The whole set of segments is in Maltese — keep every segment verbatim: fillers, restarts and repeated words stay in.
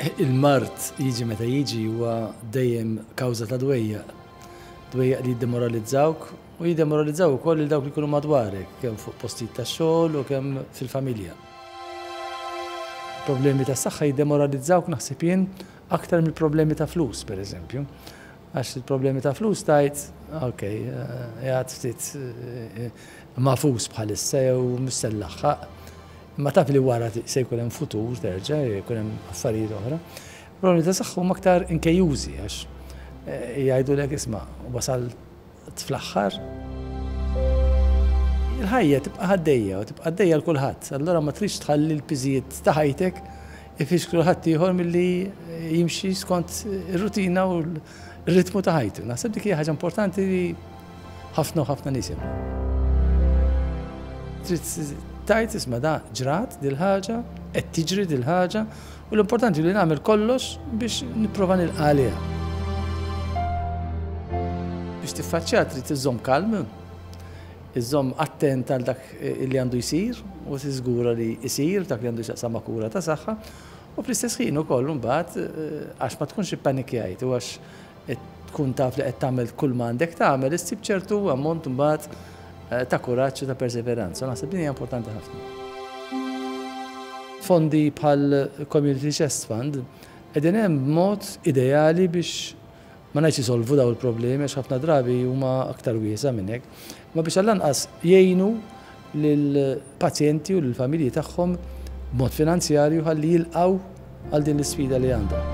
Il-mard jiġi meta jiġi huwa dejjem kawża ta' dwejjaq. Dwejjaq li jiddemoralizzawk u jiddemoralizzaw ukoll lil dawk li jkunu madwarek, kemm fuq postijiet ta' xogħol u kemm fil-familja. Problemi ta' saħħa jiddemoralizzawk, naħseb jien, aktar mill-problemi ta' flus, per eżempju. Għax il-problemi ta' flus tgħid, ok, qiegħed ftit magħfus bħalissa jew mhux se nlaħħaq. Ma taf li wara se jkun hemm futur terġa' jkun hemm affarijiet oħra. Problemi ta' saħħa huma aktar inkejjużi għax jgħidulek, "Isma', wasal fl-aħħar." Il-ħajja tibqa' għaddejja u tibqa' għaddejja l kulħadd. Allura ma tridx tħalli l-piżijiet ta' ħajtek ifixklu ħadd ieħor milli jimxi skont ir-rutina u l-ritmu ta' ħajtu. Naħseb dik hija ħaġa importanti li ħafna u ħafna nies. Trid tgħid, "Isma', da ġrat dil-ħaġa, qed tiġri dil-ħaġa u l-importanti li nagħmel kollox biex nipprova nilqa' għaliha." Biex tiffaċċja trid iżżomm kalm, iżżomm attent għal dak li għandu jsir u tiżgura li jsir dak li għandu x'jaqsam ma' kura ta' saħħa u fl-istess ħin ukoll imbagħad, għax ma tkunx ippanikjajt u għax tkun taf li qed tagħmel kull ma għandek tagħmel, issib ċertu ammont imbagħad ta' kuraġġ u ta' perseveranza. Naħseb din hija importanti ħafna. Fondi bħal Community Chest Fund qegħdin hemm b'mod ideali biex, ma ngħidx isolvu daw il-problemi għax ħafna drabi huma aktar wiesa' minn hekk, ma biex għall-anqas jgħinu lill-pazjenti u lill-familji tagħhom b'mod finanzjarju ħalli jilqgħu għal din l-isfida li għandhom.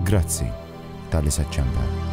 Grazzi talli se ċċempel.